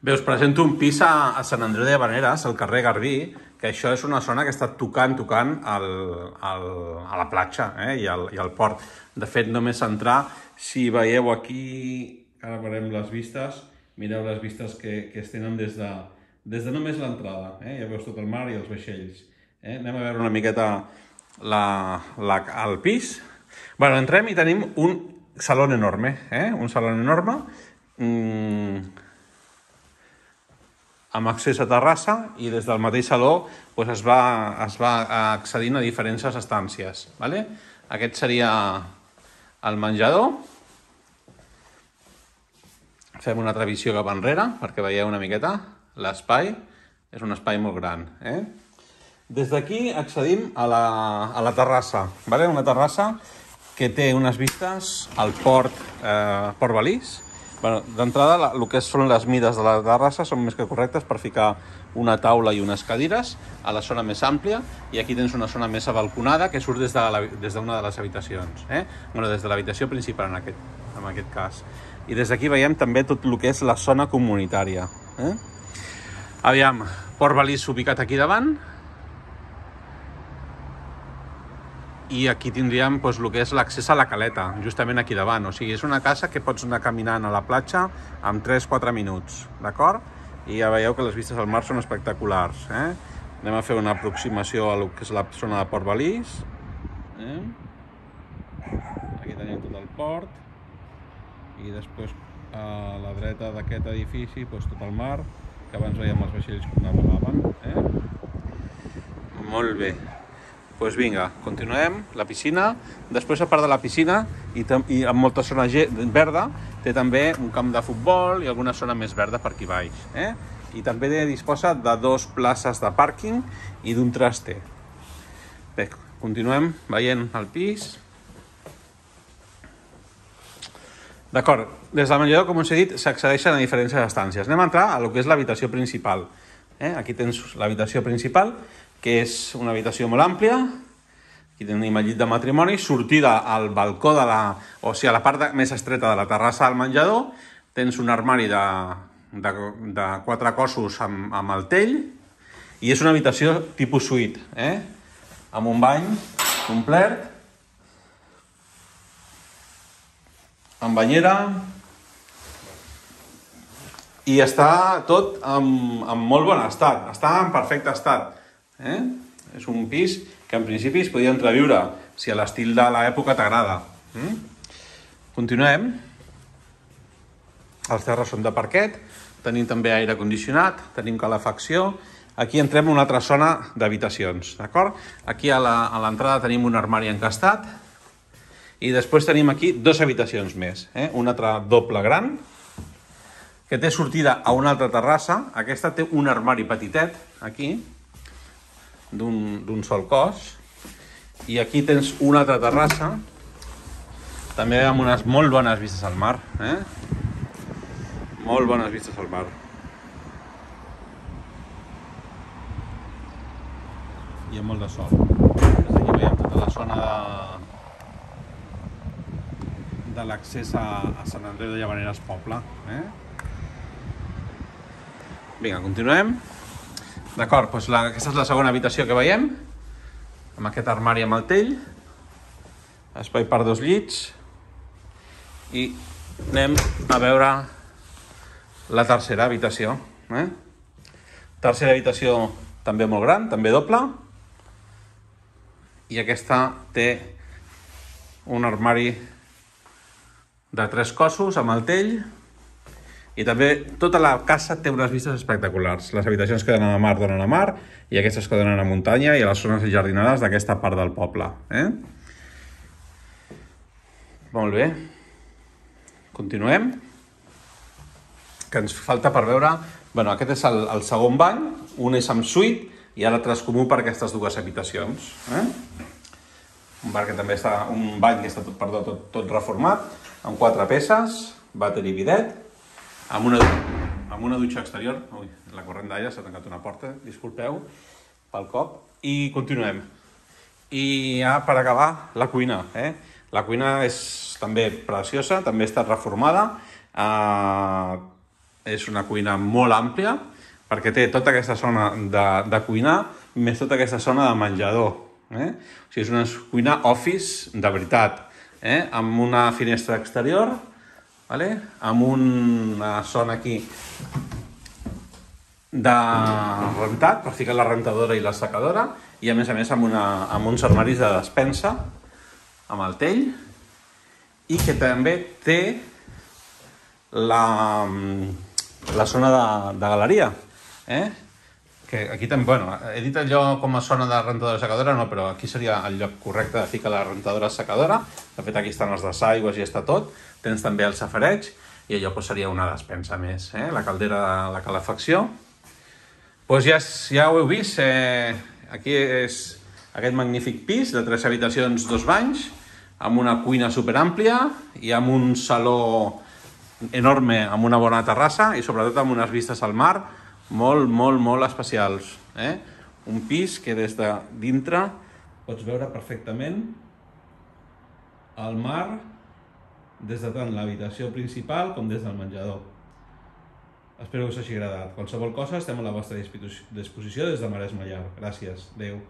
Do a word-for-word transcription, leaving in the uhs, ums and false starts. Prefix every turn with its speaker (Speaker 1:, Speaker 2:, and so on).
Speaker 1: Bé, us presento un pis a, a Sant Andreu de Llavaneres, al carrer Garbí, que això és una zona que està tocant, tocant al, al, a la platja eh, i, al, i al port. De fet, només entrar, si veieu aquí, ara veurem les vistes, mireu les vistes que, que es tenen des de, des de només l'entrada. Eh? Ja veus tot el mar i els vaixells. Eh? Anem a veure una miqueta la, la, el pis. Bueno, entrem i tenim un saló enorme, eh? un saló enorme, mm, amb accés a terrassa, i des del mateix saló doncs es, va, es va accedint a diferents estàncies. Vale? Aquest seria el menjador. Fem una altra visió cap enrere perquè veieu una miqueta l'espai. És un espai molt gran. Eh? Des d'aquí accedim a la, a la terrassa. Vale? Una terrassa que té unes vistes al port, eh, Port Balís. Bueno, d'entrada, el que són les mides de la terrassa són més que correctes per ficar una taula i unes cadires a la zona més àmplia, i aquí tens una zona més abalconada que surt des d'una de, des de, de les habitacions. Eh? Bueno, des de l'habitació principal, en aquest, en aquest cas. I des d'aquí veiem també tot el que és la zona comunitària. Eh? Aviam, Port Balís ubicat aquí davant, i aquí tindríem doncs, el que és l'accés a la caleta, justament aquí davant. O sigui, és una casa que pots anar caminant a la platja en tres a quatre minuts, d'acord? I ja veieu que les vistes al mar són espectaculars. Eh? Anem a fer una aproximació a lo que és la zona de Port Balís. Eh? Aquí tenim tot el port. I després a la dreta d'aquest edifici, doncs, tot el mar, que abans veiem els vaixells que navegaven. Eh? Molt bé. Doncs pues vinga, continuem, la piscina. Després, a part de la piscina, i, i amb molta zona verda, té també un camp de futbol i alguna zona més verda per aquí baix. Eh? I també disposa de dos places de pàrquing i d'un traster. Bé, continuem veient el pis. D'acord, des del menjador, com us he dit, s'accedeixen a diferents estàncies. Anem a entrar a lo que és l'habitació principal. Eh? Aquí tens l'habitació principal, que és una habitació molt àmplia. Aquí tenim el llit de matrimoni, sortida al balcó de la... o sigui, a la part de, més estreta de la terrassa del menjador. Tens un armari de, de, de quatre cossos amb, amb el tell, i és una habitació tipus suite, eh? Amb un bany complet, amb banyera, i està tot en, en molt bon estat, està en perfecte estat. Eh? És un pis que en principi es podia entreviure si a l'estil de l'època t'agrada. Mm? Continuem. Els terres són de parquet, tenim també aire condicionat, tenim calefacció. Aquí entrem en una altra zona d'habitacions, d'acord? Aquí a l'entrada tenim un armari encastat, i després tenim aquí dues habitacions més. Eh? Una altra doble gran, que té sortida a una altra terrassa. Aquesta té un armari petitet, aquí, d'un sol cos, i aquí tens una altra terrassa també amb unes molt bones vistes al mar. Eh? Molt bones vistes al mar, i amb molt de sol. Des d'aquí veiem tota la zona de, de l'accés a, a Sant Andreu de Llavaneres poble. Eh? Vinga, continuem. D'acord, doncs la, aquesta és la segona habitació que veiem, amb aquest armari amb el tell, espai per dos llits, i anem a veure la tercera habitació. Eh? Tercera habitació també molt gran, també doble, i aquesta té un armari de tres cossos amb el tell. I també tota la casa té unes vistes espectaculars. Les habitacions que donen a mar donen a mar, i aquestes que donen a muntanya i a les zones jardinades d'aquesta part del poble. Eh? Molt bé. Continuem. Que ens falta per veure... Bueno, aquest és el, el segon bany, un és amb suite i l'altre és comú per aquestes dues habitacions. Eh? Un bar que també està, un bany que està tot, perdó, tot, tot reformat, amb quatre peces, vàter i bidet, amb una, amb una dutxa exterior. Ui, la corrent d'aire s'ha tancat una porta, disculpeu pel cop. I continuem. I ja per acabar, la cuina. Eh? La cuina és també preciosa, també ha estat reformada. Eh, és una cuina molt àmplia, perquè té tota aquesta zona de, de cuinar, més tota aquesta zona de menjador. Eh? O sigui, és una cuina office de veritat, eh? Amb una finestra exterior, vale? Amb una zona aquí de rentat, per ficar la rentadora i la secadora, i a més a més amb, una, amb uns armaris de despensa, amb el tell, i que també té la, la zona de, de galeria. Eh? Que aquí també, bueno, he dit allò com a zona de rentadora secadora, no, però aquí seria el lloc correcte de ficar la rentadora secadora. De fet, aquí estan els desaigües i està tot. Tens també el safareig, i allò pues, seria una despensa més, eh? La caldera de la calefacció. Pues ja, ja ho heu vist, eh, aquí és aquest magnífic pis de tres habitacions, dos banys, amb una cuina superàmplia i amb un saló enorme, amb una bona terrassa i sobretot amb unes vistes al mar molt, molt, molt especials. Eh? Un pis que des de dintre pots veure perfectament el mar des de tant l'habitació principal com des del menjador. Espero que us hagi agradat. Qualsevol cosa estem a la vostra disposició des de Maresme Llar. Gràcies. Adéu.